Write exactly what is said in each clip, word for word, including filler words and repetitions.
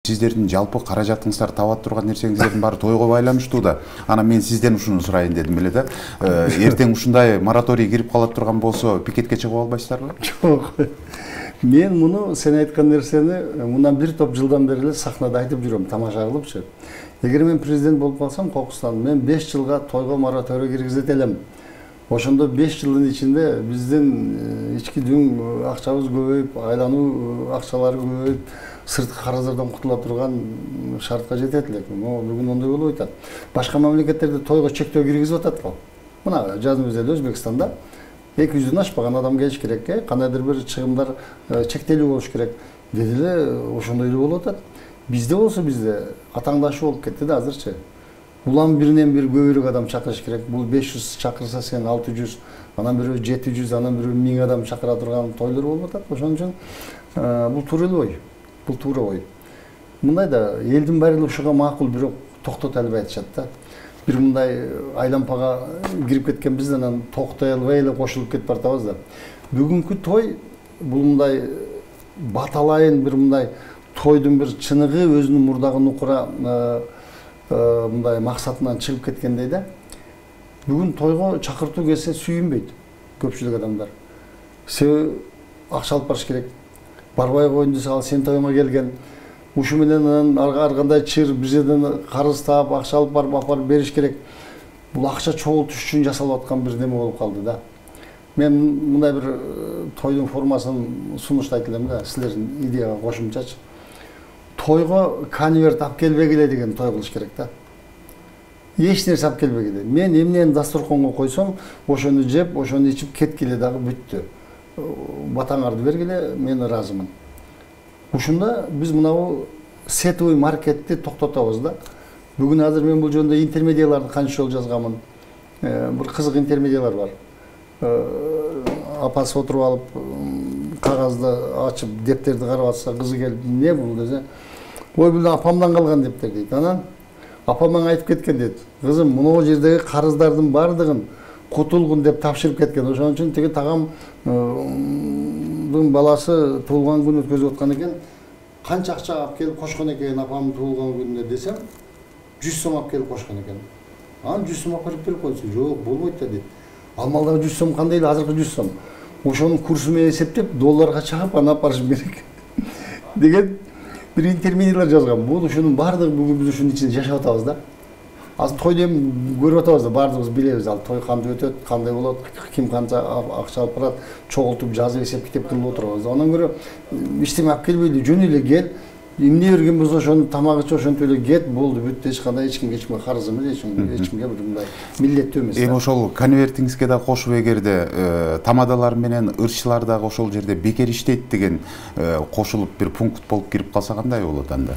сиздердин жалпы каражатыңыздар таба турган нерсеңиздердин баары тойго байланыштуу да. Анан мен сизден ушуну сурайын дедим эле да. Эртең ушундай мораторий кирип кала турган болсо, пикетке чыгып албайсыздарбы? Жок. Мен муну сен айткан нерсени мындан бир топ жылдан бери эле сахнада айтып жүрөм, тамаша кылыпчы. Эгер мен президент болуп калсам Кокустан, мен беш жылга тойго мораторий киргизет элем. Ошондо беш жылдын ичинде биздин ички дүң акчабыз көбөйүп, айлануу акчалары көбөйүп, сырткы карыздардан кутула турган шартка жетет элек. Бүгүн ондой болуп атат. Башка мамлекеттерде тойго чектөө киргизип атат го. Мына жазымыз эле Өзбекстанда эки жүздөн ашпаган адам келиш керек, кандайдыр бир чыгымдар чектелүү болуш керек. Деди эле ошондой эле болуп атат. Бизде болсо бизде атаңдашуу болуп кетти да азырчы. Улам биринен бир көбүрөөк адам чакырыш керек. Бул беш жүз чакырса сен алты жүз, анан бирөө жети жүз, анан бирөө миң адам чакыра турган тойлор болуп атат. Ошон үчүн бул туура эле ой. Бул туура ой. Мындай да элдин баары ушуга макул, бирок токтото албай атышат да. Бир мындай айлампага кирип кеткенбиз, анан токтой албай эле кошулуп кетип бартабыз да. Бүгүнкү той бул мындай баталайын бир мындай тойдун бир чыныгы өзүнүн мурдагы нукура мындай максатынан чыгып кеткендей да. Бүгүн тойго чакыртуу келсе сүйүнбөйт көпчүлүк адамдар. Себеби акча алып барыш керек. Барбай коеюн десе, ал сен тойуңа келген. Ушу менен анан ар кандай чыр бир жерден карыз таап, акча алып барып апарып бериш керек. Бул акча чогултуш үчүн жасалып аткан бир неме болуп калды да. Мен мындай бир тойдун формасын сунуштайт элем да, силердин идеяга кошумчачы. Тойго конверт алып келбегиле деген той кылыш керек да. Эч нерсе алып келбегиле. Мен эмнени дасторконго койсом, ошону жеп, ошону ичип кеткиле дагы бүттү. Батаңарды бергиле, мен ыраазымын. Ушунда биз мынабу сетовый маркетти токтотобуз да. Бүгүн азыр мен бул жөнүндө интермедияларды канча жолу жазганмын. Бир кызык интермедиялар бар. Апасы отуруп алып, кагазды ачып, дептерди карап атса, кызы келип, "Не бул?" десе, "Ой, бул апамдан калган дептер" дейт. Анан апам айтып кеткен дейт. "Кызым, мына жердеги карыздардын баардыгын кутулгун" деп тапшырып кеткен. Ошон үчүн тиги тагамдын баласы туулган күн өткөзүп аткан экен. Канча акча алып келип кошкон экен апамдын туулган күнүнө десем, жүз сом алып келип кошкон экен. Анан жүз сом алып берип койсу, "Жок, болбойт" дейт. Алмалдагы жүз сом кандай эле азыркы жүз сом. Ошонун курсу менен эсептеп, долларга чагып, анан алып барышым керек. Деген бир интермедиялар жазган. Бул ушунун баардыгы бүгүн биз ушунун ичинде жашап атабыз да. Азыр тойду эми көрүп атабыз да, баардыгыбыз билебиз, ал той кандай өтөт, кандай болот, ким канча акча алып барат, чогултуп жазып эсеп китеп кылып отурабыз. Андан көрө эчтеме алып келбейли, жөн эле кел, эмне берген болсо ошону тамагычы ошентип эле кет, болду, бүттү, эч кандай эч кимге эчкимге карыз эмес, эч кимге бир мындай милдеттүү эмес. Эми ошол конвертиңизге да кошуп, эгерде тамадалар менен ырчылар дагы ошол жерде бекер иштейт деген кошулуп бир пункт болуп кирип калса кандай болот анда?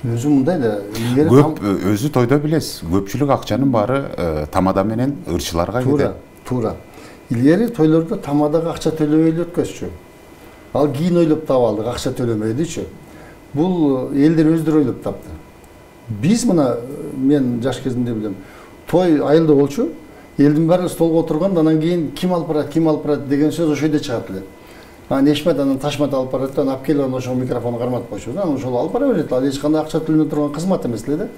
Өзү мындай да, көп өзү тойдо билесиз, көпчүлүк акчанын баары тамада менен ырчыларга кетет. Туура, туура. Илгери тойлордо тамадага акча төлөбөй эле өткөзчү. Ал кийин ойлоп таап алдык, акча төлөмөйдүчү. Бул элдер өздөрү ойлоп тапты. Биз мына мен жаш кезимде билем, той айылда болчу, элдин баары столго отурганда, анан кийин ким алып барат, ким алып барат деген сөз ошо жерде чыгат эле. Анан Эшмет анан Ташмат алып барат да, алып келип анан ошол микрофонду карматып койчу. Анан ошол алып бара берет. Ал эч кандай акча төлөнө турган кызмат эмес эле да.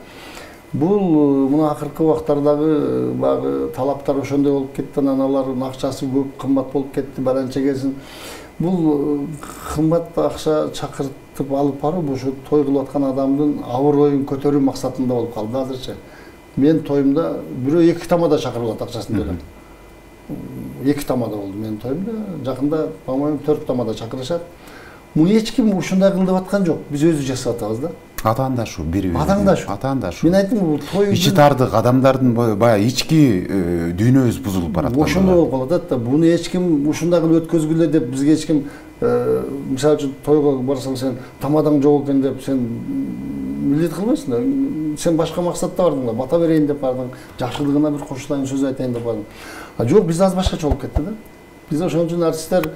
Бул мына акыркы убактардагы багы талаптар ошондой болуп кетти, анан алардын акчасы көп, кымбат болуп кетти, баранча келсин. Бул кымбат акча чакыртып алып барып, ошо той кылып аткан адамдын абыройун көтөрүү максатында болуп калды азырчы. Мен тоюмда бирөө эки тамада чакырылат акчасын төлөп. Эки тамада болду менин тоюмда. Жакында, по-моему, төрт тамада чакырышат. Муну эч ким ушундай кыл деп аткан жок. Биз өзү жасап атабыз да. Атаандашуу, бири-бири. Атаандашуу. Атаандашуу. Мен айттым, бул той ичи тардык адамдардын баягы ички дүйнөбүз бузулуп бараткан. Ошондой болуп калат да. Буну эч ким ушундай кылып өткөзгүлө деп бизге эч ким, мисалы үчүн тойго барсаң сен тамадаң жок экен деп сен милдет кылбайсың да. Сен башка максатта бардың да, бата берейин деп бардың, жакшылыгына бир кошулайын сөз айтайын деп бардың. А жок, биз аз башкача болуп кетти да. Биз ошон үчүн артисттер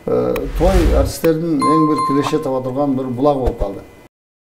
той артисттердин эң бир киреше таба турган бир булак болуп калды.